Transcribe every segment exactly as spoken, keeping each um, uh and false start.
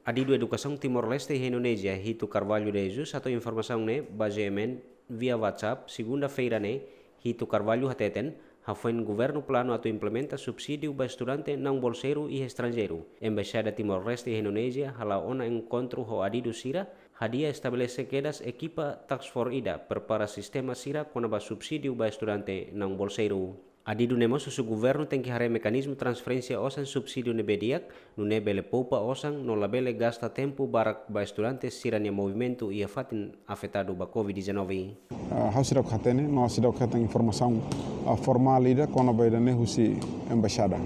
Adidu Edukasaun Timor-Leste iha Indonézia, Hito Carvalho de Jesus, hato'o informasaun ne'e ba G M N via WhatsApp, segunda-feira ne'e. Hito Carvalho hateten, hafoin governu planu atu implementa subsídiu ba estudante naun bolseiru iha estranjeiru, Embaixada Timor-Leste iha Indonézia hala'o ona enkontru ho adidu sira, hadi'a estabelese kedas ekipa task force ida prepara sistema sira kona-ba subsídiu ba estudante naun bolseiru. Adidu ne'e mós husu governu tenke haree mekanizmu transferénsia osan subsídiu ne'ebé di'ak, nune'e bele poupa osan no labele gasta tempu barak ba estudante sira-nia movimentu iha fatin afetadu ba covid dezanove. Ah, ha'u seidauk hatene, no seidauk hetan informasaun, ah, formál ida kona-ba ida-ne'e husi embaixada.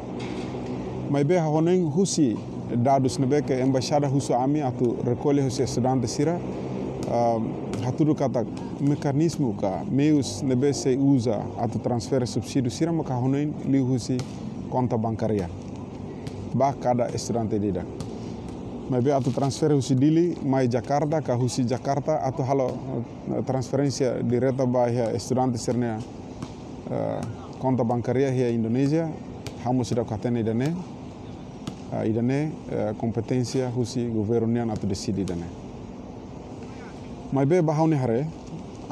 Maibé ha'u hanoin husi dadus ne'ebé ke embaixada husu ami atu rekolle husi estudante sira, ah, hatudu katak mekanizmu ka meius ne'ebé sei uza atu transfere subsídiu sira maka ha'u hanoin liu husi konta bankária ba kada estudante ida-idak. Maibé atu transfere husi Dili mai Jakarta ka husi Jakarta atu halo, eh, transferénsia direta ba iha estudante sira-nia, eh, konta bankária iha Indonézia, ha'u mós seidauk hatene ida-ne'e, eh, ida-ne'e, eh, kompeténsia husi governu nian atu deside ida-ne'e. Maibé ba ha'u-nia haree,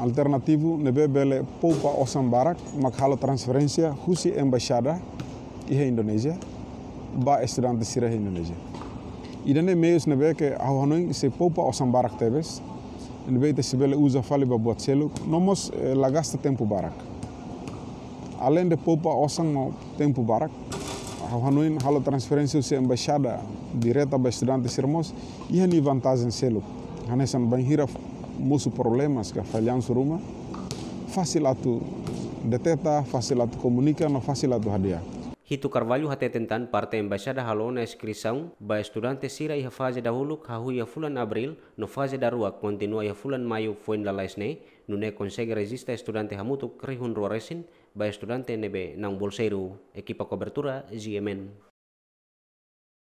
alternativu ne'ebé bele poupa osan barak mak halo transferénsia husi embaixada iha Indonézia ba estudante sira iha Indonézia. Ida-ne'e meius ne'ebé ke ha'u hanoin sei poupa osan barak tebes, ne'ebé ita sei bele uza fali ba buat seluk, no mós, eh, la gasta tempu barak. Além de poupa osan no tempu barak, ha'u hanoin halo transferénsia husi embaixada direta ba estudante sira mós iha nia vantajen seluk. Hanesan bainhira mosu problemas ka fallansu ruma, fasil atu deteta, fasil atu komunika, no fasil atu hadi'a. Hito Carvalho hateten tan parte embaixada halo ona inskrisaun ba estudante sira iha faze dahuluk hahú iha fulan Abríl, no faze daruak kontinua iha fulan Maiu foin lalais ne'e, nune'e konsege rejista estudante hamutuk rihun rua resin ba estudante ne'ebé naun bolseiru. Ekipa kobertura, G M N.